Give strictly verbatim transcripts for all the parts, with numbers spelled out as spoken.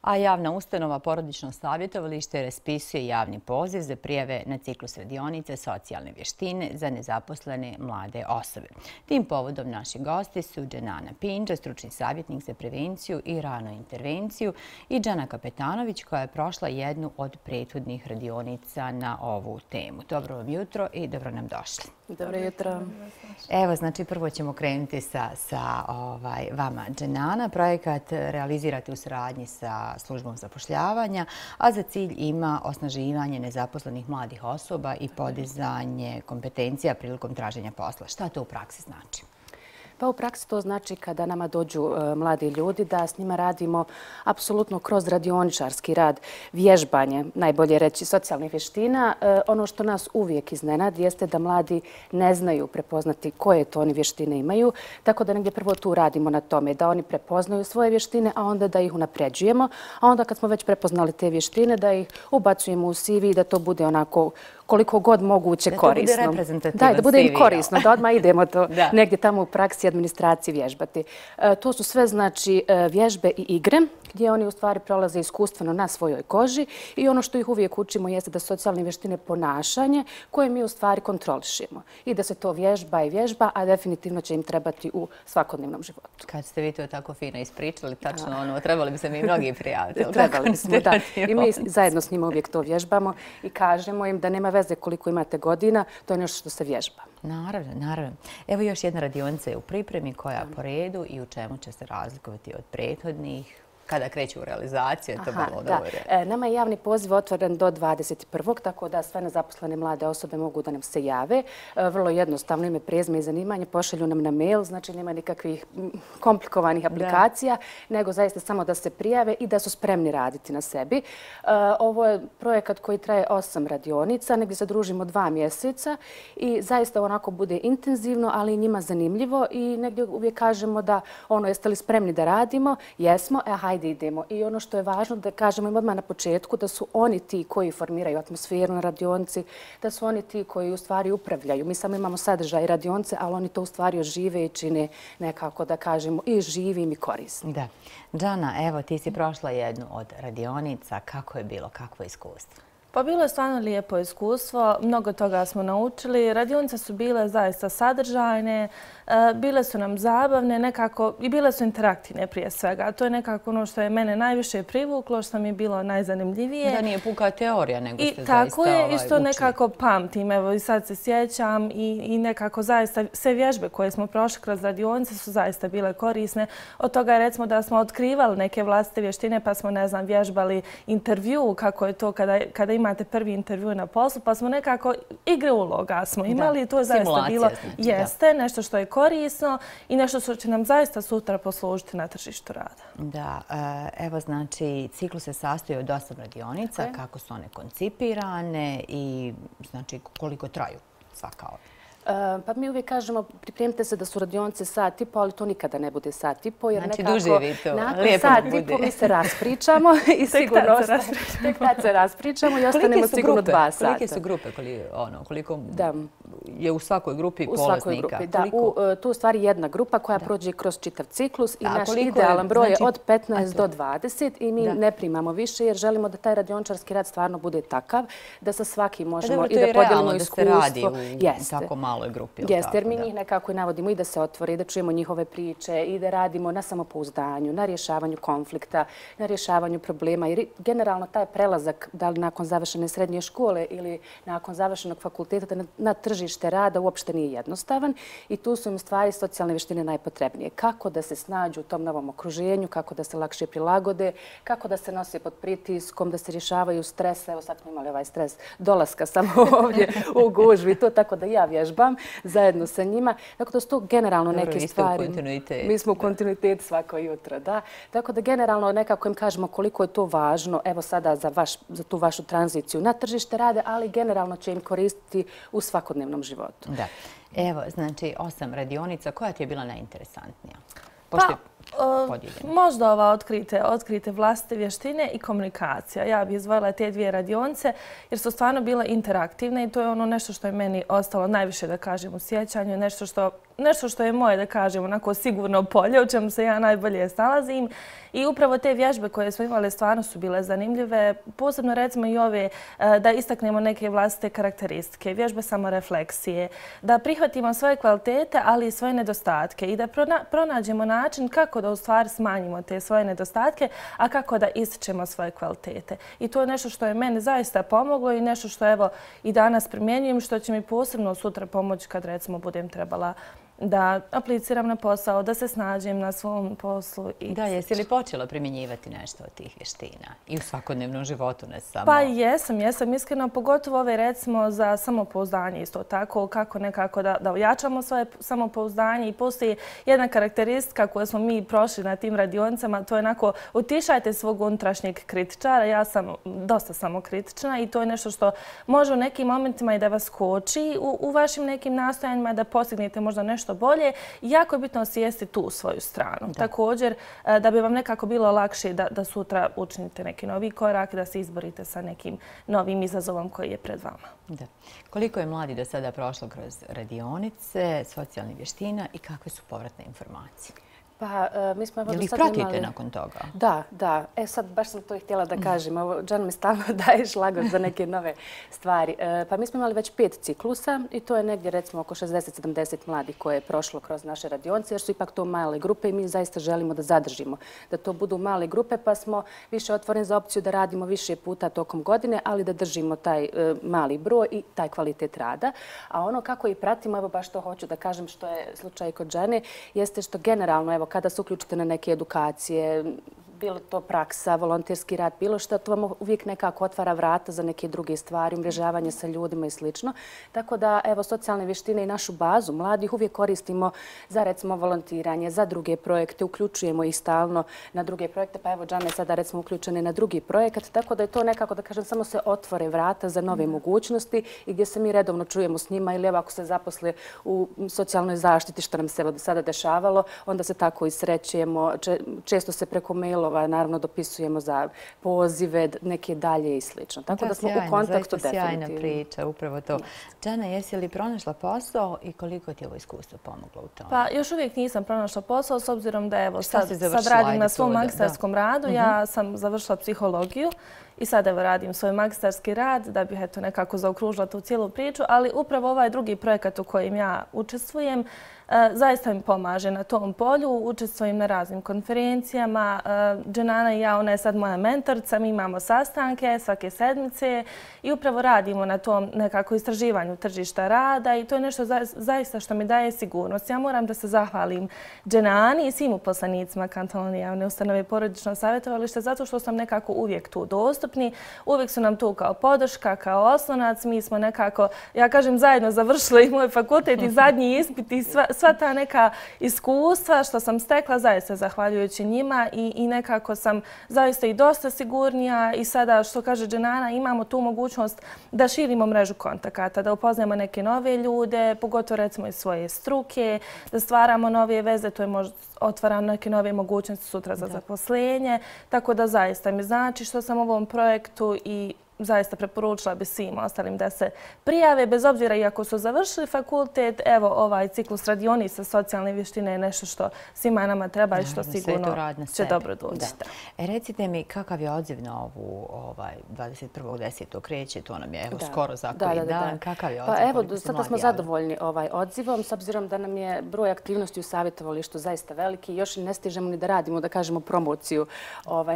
A javna ustanova Porodično savjetovalište raspisuje javni poziv za prijave na ciklus radionice socijalne vještine za nezaposlene mlade osobe. Tim povodom naši gosti su Dženana Pinđa, stručni savjetnik za prevenciju i ranu intervenciju, i Džana Kapetanović, koja je prošla jednu od prethodnih radionica na ovu temu. Dobro vam jutro i dobro nam došli. Dobro jutro. Evo, znači, prvo ćemo krenuti sa, sa ovaj, vama, Dženana. Projekat realizirate u saradnji sa službom zapošljavanja, a za cilj ima osnaživanje nezaposlenih mladih osoba i podizanje kompetencija prilikom traženja posla. Šta to u praksi znači? Pa u praksi to znači kada nama dođu e, mladi ljudi da s njima radimo apsolutno kroz radioničarski rad, vježbanje, najbolje reći socijalnih vještina. E, ono što nas uvijek iznenadi jeste da mladi ne znaju prepoznati koje to oni vještine imaju, tako da negdje prvo tu radimo na tome, da oni prepoznaju svoje vještine, a onda da ih unapređujemo, a onda kad smo već prepoznali te vještine, da ih ubacujemo u C V i da to bude onako koliko god moguće korisno. Da to bude reprezentativan Da, da bude C V, im korisno, da odmah idemo to da. negdje tamo u praksi administraciji vježbati. E, to su sve znači vježbe i igre gdje oni u stvari prolaze iskustveno na svojoj koži i ono što ih uvijek učimo jeste da socijalne vještine ponašanje koje mi u stvari kontrolišemo i da se to vježba i vježba, a definitivno će im trebati u svakodnevnom životu. Kad ste vi to tako fino ispričali, tačno ono, trebali bi se mi mnogi prijaviti. Trebali bismo, da. I mi zajedno s njima uvijek to vježbamo i kažemo im da nema veze koliko imate godina, to je nešto što se vježba. Naravno, naravno. Evo još jedna radionica je u pripremi, koja po redu i u čemu će se razlikovati od prethodnih. Kada kreću u realizaciju, je to bilo dobro. E, nama je javni poziv otvoren do dvadeset prvog tako da sve nezaposlene mlade osobe mogu da nam se jave. E, vrlo jednostavno, ime, prezime i zanimanje pošalju nam na mail, znači nema nikakvih komplikovanih aplikacija, da. nego zaista samo da se prijave i da su spremni raditi na sebi. E, ovo je projekat koji traje osam radionica, negdje se družimo dva mjeseca i zaista onako bude intenzivno, ali i njima zanimljivo i negdje uvijek kažemo da ono, jeste li spremni da radimo? Jesmo, e, hajde idemo. I ono što je važno da kažemo im odmah na početku da su oni ti koji formiraju atmosferu na radionici, da su oni ti koji u stvari upravljaju. Mi samo imamo sadržaj radionice, ali oni to u stvari ožive i čine nekako da kažemo i živim i korisnim. Da. Džana, evo ti si prošla jednu od radionica. Kako je bilo? Kakvo je iskustvo? Pa bilo je stvarno lijepo iskustvo, mnogo toga smo naučili. Radionice su bile zaista sadržajne, bile su nam zabavne nekako i bile su interaktivne prije svega. To je nekako ono što je mene najviše privuklo, što mi je bilo najzanimljivije. Da nije puka teorija, nego ste I zaista tako je, ovaj, isto učili. nekako pamtim. Evo i sad se sjećam i, i nekako zaista sve vježbe koje smo prošli kroz radionice su zaista bile korisne. Od toga je recimo da smo otkrivali neke vlastite vještine pa smo, ne znam, vježbali intervju, kako je to kada, kada imate prvi intervju na poslu, pa smo nekako igre uloga smo imali. Da. To je zaista bilo, znači, jeste, da. nešto što je korisno i nešto što će nam zaista sutra poslužiti na tržištu rada. Da, evo znači ciklus se sastoji od osam radionica, okay. kako su one koncipirane i znači koliko traju svaka ova. Pa mi uvijek kažemo, pripremite se da su radionice sat i po, ali to nikada ne bude sat i po. Jer znači nekako, duže vi to, nakon lijepo sat bude. i po mi se raspričamo i sigurno tek tad se raspričamo i ostanemo sigurno dva sata. Kolike su grupe? Koliko, ono, koliko da. je u svakoj grupi u polaznika? U svakoj grupi, da. U, tu je u stvari jedna grupa koja da. prođe kroz čitav ciklus i da, naš idealan broj je znači, od petnaest do dvadeset i mi da. ne primamo više jer želimo da taj radioničarski rad stvarno bude takav da sa svakim možemo da, i da podijelimo iskustvo. Da se radi u Jeste. tako maloj grupi. Jeste, jer mi njih nekako i navodimo i da se otvore, i da čujemo njihove priče, i da radimo na samopouzdanju, na rješavanju konflikta, na rješavanju problema. Jer generalno taj prelazak, da li nakon završene srednje škole ili nakon završenog fakulteta na, na tržište rada uopšte nije jednostavan i tu su im stvari socijalne vještine najpotrebnije. Kako da se snađu u tom novom okruženju, kako da se lakše prilagode, kako da se nose pod pritiskom, da se rješavaju stresa. Evo sad smo imali ovaj stres dolaska samo ovdje u gužvi. To tako da ja vježbam zajedno sa njima. Tako da su to generalno Dobro, neke stvari. Mi smo u kontinuitetu svako jutro, da. Tako da generalno nekako im kažemo koliko je to važno, evo sada za, vaš, za tu vašu tranziciju na tržište rade, ali generalno će im koristiti u svakodnevnom životu. Da. Evo, znači, osam radionica. Koja ti je bila najinteresantnija? Pošto pa, možda ova otkrite, otkrite vlastite vještine i komunikacija. Ja bih izdvojila te dvije radionice jer su stvarno bile interaktivne i to je ono nešto što je meni ostalo najviše, da kažem, u sjećanju. Nešto što nešto što je moje, da kažem, onako sigurno polje, u čemu se ja najbolje snalazim. I upravo te vježbe koje smo imali stvarno su bile zanimljive. Posebno recimo i ove da istaknemo neke vlastite karakteristike, vježbe samorefleksije, da prihvatimo svoje kvalitete, ali i svoje nedostatke i da pronađemo način kako da u stvari smanjimo te svoje nedostatke, a kako da ističemo svoje kvalitete. I to je nešto što je meni zaista pomoglo i nešto što evo i danas primjenjujem, što će mi posebno sutra pomoći kad recimo budem trebala da apliciram na posao, da se snađem na svom poslu. Da, jesi li počela primjenjivati nešto od tih vještina? I u svakodnevnom životu, ne samo... Pa jesam, jesam iskreno, pogotovo ove recimo za samopouzdanje isto tako, kako nekako da ojačamo svoje samopouzdanje i postoji jedna karakteristika koju smo mi prošli na tim radionicama, to je onako utišajte svog unutrašnjeg kritičara. Ja sam dosta samokritična i to je nešto što može u nekim momentima i da vas koči u vašim nekim nastojanjima da postignete možda nešto bolje. Jako je bitno osvijesti tu svoju stranu. Također, da bi vam nekako bilo lakše da sutra učinite neki novi korak, da se izborite sa nekim novim izazovom koji je pred vama. Koliko je mladi do sada prošlo kroz radionice, socijalnih vještina i kakve su povratne informacije? Pa, mi smo evo do sada imali... Jel ih pratite nakon toga? Da, da. E sad, baš sam to i htjela da kažem. Džan mi stalno daje šlagor za neke nove stvari. Pa mi smo imali već pet ciklusa i to je negdje recimo oko šezdeset sedamdeset mladih koje je prošlo kroz naše radionice jer su ipak to male grupe i mi zaista želimo da zadržimo da to budu male grupe pa smo više otvoreni za opciju da radimo više puta tokom godine, ali da držimo taj mali broj i taj kvalitet rada. A ono kako i pratimo, evo baš to hoću da kažem što je slučaj kod Džane, jeste što generalno, evo kada se uključite na neke edukacije, bilo to praksa, volonterski rad, bilo što, to vam uvijek nekako otvara vrata za neke druge stvari, umrežavanje sa ljudima i slično. Tako da, evo, socijalne vještine i našu bazu mladih uvijek koristimo za, recimo, volontiranje, za druge projekte, uključujemo ih stalno na druge projekte, pa evo, Džana je sada, recimo, uključena na drugi projekat, tako da je to nekako, da kažem, samo se otvore vrata za nove mogućnosti i gdje se mi redovno čujemo s njima ili evo, ako se zaposle u socijalnoj zaštiti, što nam se evo sada dešavalo, onda se tako i srećujemo, često se preko mailova naravno dopisujemo za pozive, neke dalje i slično. Tako da smo u kontaktu definitivno. Sjajna priča, upravo to. Džana, jesi li pronašla posao i koliko ti je ovo iskustvo pomoglo u tome? Pa još uvijek nisam pronašla posao s obzirom da evo sad radim na svom magistarskom radu. Ja sam završila psihologiju i sad evo radim svoj magistarski rad da bih eto nekako zaokružila tu cijelu priču, ali upravo ovaj drugi projekat u kojem ja učestvujem zaista mi pomaže na tom polju. Učestvujem na raznim konferencijama. Dženana i ja, ona je sad moja mentorica, mi imamo sastanke svake sedmice i upravo radimo na tom nekako istraživanju tržišta rada i to je nešto zaista što mi daje sigurnost. Ja moram da se zahvalim Dženani i svim uposlenicima Kantonalne javne ustanove porodično savjetovalište zato što sam nekako uvijek tu dostupni. Uvijek su nam tu kao podrška, kao oslonac. Mi smo nekako, ja kažem, zajedno završili moj fakultet i zadnji ispit i sva sva ta neka iskustva što sam stekla zaista zahvaljujući njima i, i nekako sam zaista i dosta sigurnija i sada, što kaže Dženana, imamo tu mogućnost da širimo mrežu kontakata, da upoznajemo neke nove ljude, pogotovo recimo iz svoje struke, da stvaramo nove veze, to je možda otvara neke nove mogućnosti sutra za zaposlenje, tako da zaista mi znači što sam u ovom projektu i zaista preporučila bi svim ostalim da se prijave, bez obzira i ako su završili fakultet. Evo, ovaj ciklus radionica socijalne vještine je nešto što svima nama treba i što sigurno će dobro doći. Recite mi, kakav je odziv na ovu dvadeset prvog desetog kreće, to nam je skoro za koji dan. Kakav je odziv? Pa evo, sada smo zadovoljni odzivom, s obzirom da nam je broj aktivnosti u savjetovalištu zaista veliki. Još ne stižemo ni da radimo, da kažemo, promociju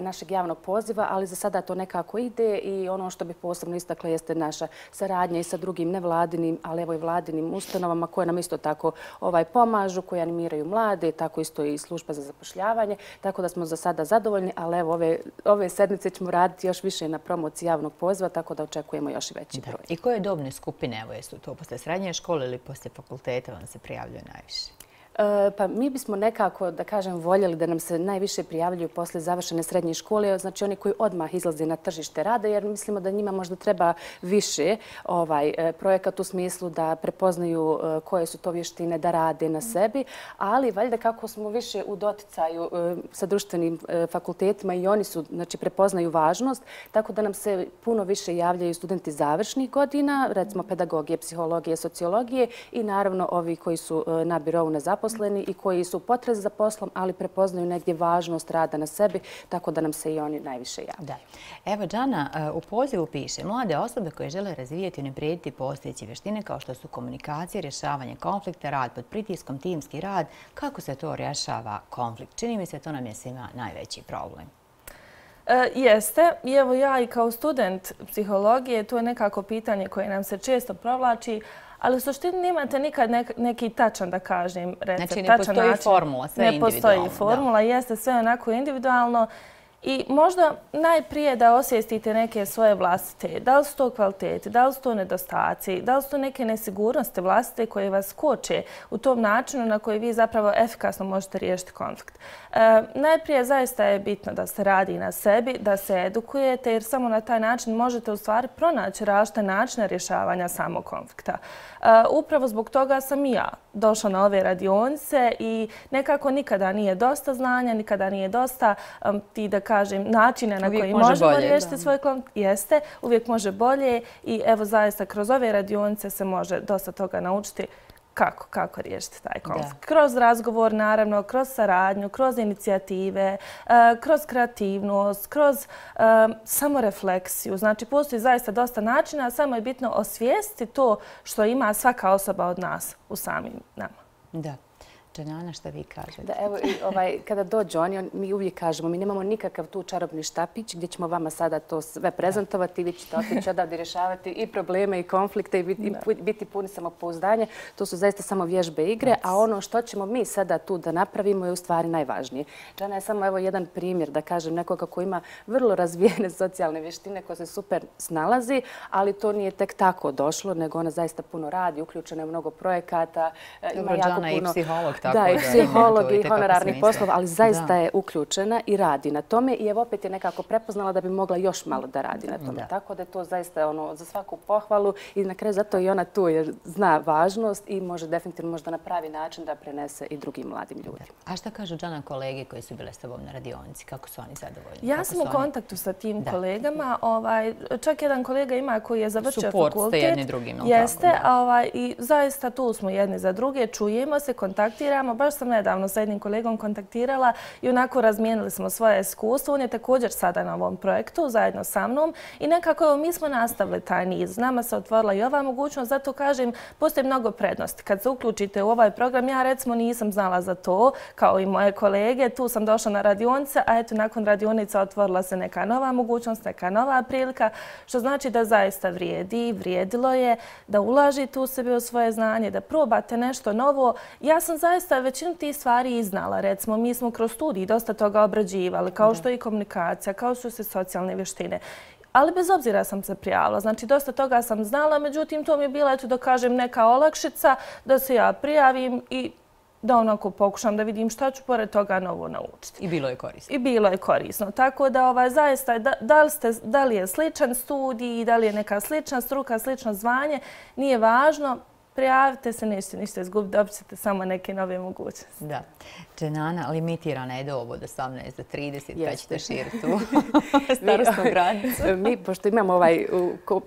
našeg javnog poziva, ali za sada to nekako ide i ono što bih posebno istakla jeste naša saradnja i sa drugim nevladinim, ali evo i vladinim ustanovama koje nam isto tako pomažu, koje animiraju mlade, tako isto i služba za zapošljavanje. Tako da smo za sada zadovoljni, ali evo ove sedmice ćemo raditi još više na promociji javnog poziva, tako da očekujemo još i veći broj. I koje dobne skupine, evo jesu to posle srednje škole ili posle fakulteta vam se prijavljaju najviše? Pa mi bismo nekako, da kažem, voljeli da nam se najviše prijavljuju posle završene srednje škole, znači oni koji odmah izlaze na tržište rada, jer mislimo da njima možda treba više projekat u smislu da prepoznaju koje su to vještine, da rade na sebi, ali valjda kako smo više u doticaju sa društvenim fakultetima i oni su, znači, prepoznaju važnost, tako da nam se puno više javljaju studenti završnih godina, recimo pedagogije, psihologije, sociologije i naravno ovi koji su na birovu nezaposleni i koji su u potrazi za poslom, ali prepoznaju negdje važnost rada na sebi, tako da nam se i oni najviše javljaju. Evo, Džana, u pozivu piše mlade osobe koje žele razvijati i unaprijediti postojeće vještine kao što su komunikacija, rješavanje konflikta, rad pod pritiskom, timski rad. Kako se to rješava konflikt? Čini mi se to nam je svima najveći problem. Jeste. I evo ja i kao student psihologije, to je nekako pitanje koje nam se često provlači, ali u suštini nemate nikad neki tačan, da kažem, recept. Znači ne postoji formula, sve individualno. Ne postoji formula, jeste sve onako individualno. I možda najprije da osvijestite neke svoje vlastite, da li su to kvalitete, da li su to nedostaci, da li su to neke nesigurnosti vlastite koje vas koče u tom načinu na koji vi zapravo efikasno možete riješiti konflikt. E, najprije zaista je bitno da se radi na sebi, da se edukujete, jer samo na taj način možete u stvari pronaći različite načine rješavanja samog konflikta. E, upravo zbog toga sam i ja došla na ove radionice i nekako nikada nije dosta znanja, nikada nije dosta um, ti da kažem načina na koji možemo riješiti svoj konflikt. Jeste, uvijek može bolje i evo zaista kroz ove radionice se može dosta toga naučiti kako, kako riješiti taj konflikt. Kroz razgovor, naravno, kroz saradnju, kroz inicijative, kroz kreativnost, kroz samorefleksiju. Znači, postoji zaista dosta načina, samo je bitno osvijestiti to što ima svaka osoba od nas u samim nama. Da. Džanana, šta vi kažete? Da, evo, ovaj, kada dođu oni, mi uvijek kažemo, mi nemamo nikakav tu čarobni štapić gdje ćemo vama sada to sve prezentovati, vi ćete otići odavde rješavati i probleme i konflikte i biti, i biti puni samopouzdanja. To su zaista samo vježbe igre, a ono što ćemo mi sada tu da napravimo je u stvari najvažnije. Džana je samo evo jedan primjer, da kažem, nekoga koji ima vrlo razvijene socijalne vještine koje se super snalazi, ali to nije tek tako došlo, nego ona zaista puno radi, uključena je u mnogo projekata, ima jako puno... i psiholog. Da, i psiholog i honorarnih poslova, ali zaista je uključena i radi na tome i evo opet je nekako prepoznala da bi mogla još malo da radi na tome. Tako da je to zaista ono za svaku pohvalu i na kraju zato i ona tu jer zna važnost i može definitivno možda na pravi način da prenese i drugim mladim ljudima. A šta kažu, Džana, kolege koji su bile s tobom na radionici? Kako su oni zadovoljni? Ja sam u kontaktu sa tim kolegama. Čak jedan kolega ima koji je završio fakultet. Suport ste jedni drugim. Jeste. I zaista tu smo jedni za druge. Čujemo se, kontaktiramo. Baš sam nedavno sa jednim kolegom kontaktirala i onako razmijenili smo svoje iskustvo. On je također sada na ovom projektu zajedno sa mnom i nekako evo, mi smo nastavili taj niz. Nama se otvorila i ova mogućnost, zato kažem, postoji mnogo prednosti. Kad se uključite u ovaj program, ja recimo nisam znala za to, kao i moje kolege. Tu sam došla na radionice, a eto nakon radionica otvorila se neka nova mogućnost, neka nova prilika, što znači da zaista vrijedi, vrijedilo je, da ulažite u sebe u svoje znanje, da probate nešto novo. Ja sam zaista većinu tih stvari iznala. Recimo, mi smo kroz studij dosta toga obrađivali, kao što je i komunikacija, kao što su socijalne vještine. Ali bez obzira sam se prijavila. Znači, dosta toga sam znala, međutim, to mi je bila, eto da kažem, neka olakšica da se ja prijavim i da onako pokušam da vidim šta ću pored toga novo naučiti. I bilo je korisno. I bilo je korisno. Tako da ovaj, zaista, da, da, li ste, da li je sličan studij, da li je neka slična struka, slično zvanje, nije važno. Prijavite se, nećete ništa izgubiti, dobit ćete samo neke nove mogućnosti. Da. Džanana, limitirana je dob od osamnaest do trideset, pa ćete širiti tu starostnu granicu. Mi, pošto imamo ovaj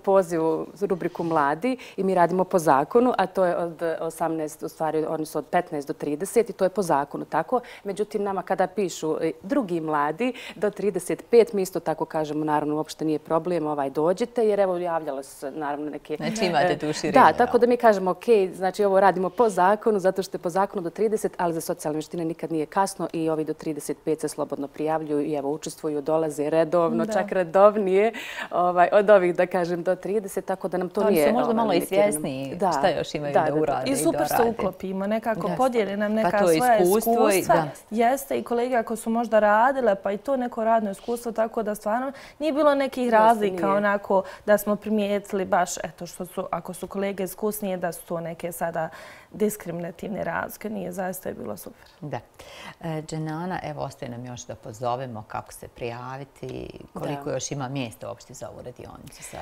poziv u rubriku Mladi i mi radimo po zakonu, a to je od osamnaest, u stvari, odnosno od petnaest do trideset i to je po zakonu tako. Međutim, nama kada pišu drugi mladi do trideset pet, mi isto tako kažemo, naravno, uopšte nije problem, ovaj, dođite, jer evo javljala se, naravno, neke... Znači imate tu širinu. Da, tako da mi kažemo, ok, znači ovo radimo po zakonu, zato što je po zakonu do trideset, ali za socijalne vještine nikad nije kasno i ovi do trideset pet se slobodno prijavljuju i evo učestvuju, dolaze redovno, čak redovnije od ovih, da kažem, do trideset, tako da nam to nije... Oni su možda malo i svjesni šta još imaju da urade i I super se uklopimo, nekako podijeli nam neka svoja iskustva. Jeste i kolege ako su možda radile, pa i to neko radno iskustvo, tako da stvarno nije bilo nekih razlika onako da smo primijetili baš, eto što su, ako su kolege iskusnije, da su to neke sada diskriminativne razlike. Nije, zaista je bilo super. Da. Dženana, evo ostaje nam još da pozovemo kako se prijaviti, koliko još ima mjesta uopšte za ovu radionicu sad.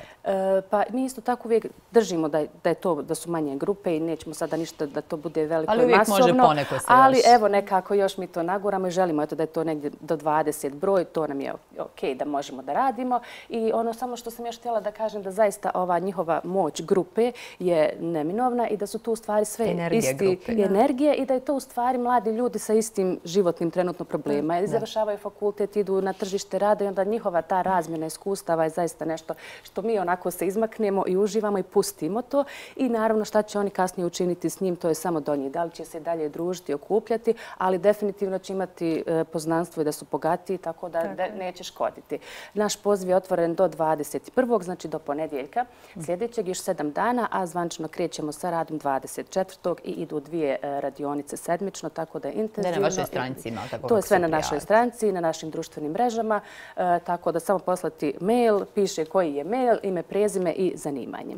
Pa mi isto tako uvijek držimo da je to, da su manje grupe i nećemo sada ništa da to bude veliko i masovno. Ali uvijek može poneko se još. Ali evo nekako još mi to naguramo i želimo da je to negdje do dvadeset broj, to nam je okej da možemo da radimo. I ono samo što sam još htjela da kažem da zaista ova njihova moć grupe je neminovna i da su tu u stvari sve isti energije i da je to u stvari mladi ljudi sa istim životnim trenutno problema. I završavaju fakultet, idu na tržište rada i onda njihova ta razmjena iskustava je zaista nešto što mi onako se izmaknemo i uživamo i pustimo to. I naravno šta će oni kasnije učiniti s njim, to je samo do njih. Da li će se dalje družiti, okupljati, ali definitivno će imati poznanstvo i da su bogatiji, tako da neće škoditi. Naš poziv je otvoren do dvadeset prvog znači do ponedjeljka sljedećeg, još sedam dana, a zvančno krećemo sa radom dvadeset četvrtog i idu dvije radionice sedmično, tako da je intenzivno. Da na vašoj stranici ima tako. To je sve na našoj stranici, na našim društvenim mrežama, tako da samo poslati mail, piše koji je mail, ime, prezime i zanimanje.